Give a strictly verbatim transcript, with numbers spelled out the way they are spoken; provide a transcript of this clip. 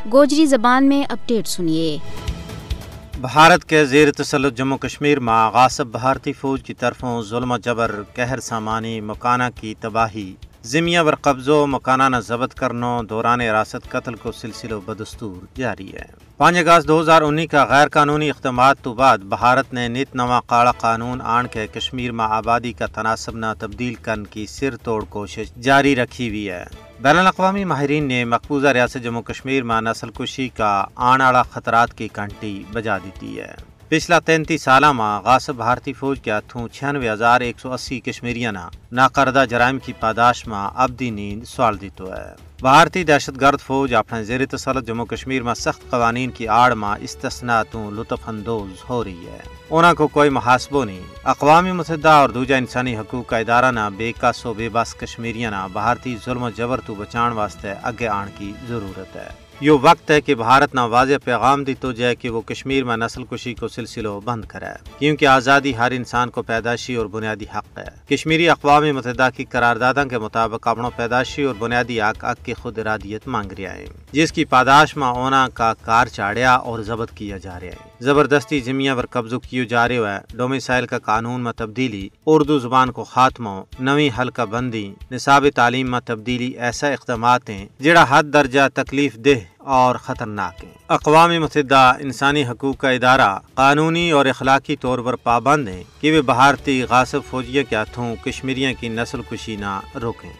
گوجری زبان میں اپڈیٹ سنیے۔ بھارت کے زیر تسلط جموں کشمیر ما غاصب بھارتی فوج کی طرفوں ظلم و جبر، قہر سامانی، مکانہ کی تباہی، زمیاں پر قبضو، مکانہ نا ضبط کرنو، دوران حراست قتل کو سلسلو بدستور جاری ہے۔ پانچ اگست دو ہزار انی کا غیر قانونی اقدامات تو بعد بھارت نے نت نواں قاڑا قانون آن کے کشمیر ما آبادی کا تناسب نا تبدیل کرن کی سر توڑ کوشش جاری رکھی ہوئی ہے۔ بین الاقوامی ماہرین نے مقبوضہ ریاست جموں کشمیر ما نسل کشی کا آن آڑا خطرات کی کنٹی بجا دیتی ہے۔ پچھلا تینتی سالاں ما غاصب بھارتی فوج کے ہتھوں چھیانوے ہزار ایک سو اسی کشمیریاں نا ناکردہ جرائم کی پاداش ما ابدی نیند سوال دیتو ہے۔ بھارتی دہشت گرد فوج اپنے زیر تسلط جموں کشمیر ما سخت قوانین کی آڑ ما استثنا توں لطف اندوز ہو رہی ہے۔ انہاں کو کوئی محاسبو نہیں۔ اقوام متحدہ اور دوجہ انسانی حقوق کا ادارہ نا بے کس و بے بس کشمیریاں نا بھارتی ظلم و جبر تو بچان واسطے اگے آن کی ضرورت ہے۔ یوہ وقت ہے کہ بھارت نا واضح پیغام دیتو جائے کہ وہ کشمیر ما نسل کشی کو سلسلو بند کرے، کیونکہ آزادی ہر انسان کو پیدائشی اور بنیادی حق ہے۔ کشمیری اقوام متحدہ کی قرارداداں کے مطابق اپنو پیدائشی اور بنیادی حق حق کی خود ارادیت مانگ رہیا ہیں، جس کی پاداش ما انہاں کا کار چاڑھیا اور ضبط کیا جا رہیا ہیں۔ زبردستی زمیاں پر قبضو کیو جا رہیو ہے۔ ڈومیسائل کا قانون ما تبدیلی، اردو زبان کو خاتمو، نویں حلقہ بندی، نصاب تعلیم ما تبدیلی ایسا اقدامات ہیں جڑا حد درجہ تکلیف دہ اور خطرناک ہیں۔ اقوام متحدہ انسانی حقوق کا ادارہ قانونی اور اخلاقی طور پر پابند ہیں کہ وہ بھارتی غاصب فوجیوں کے ہتھوں کشمیریوں کی نسل کشی نہ روکیں۔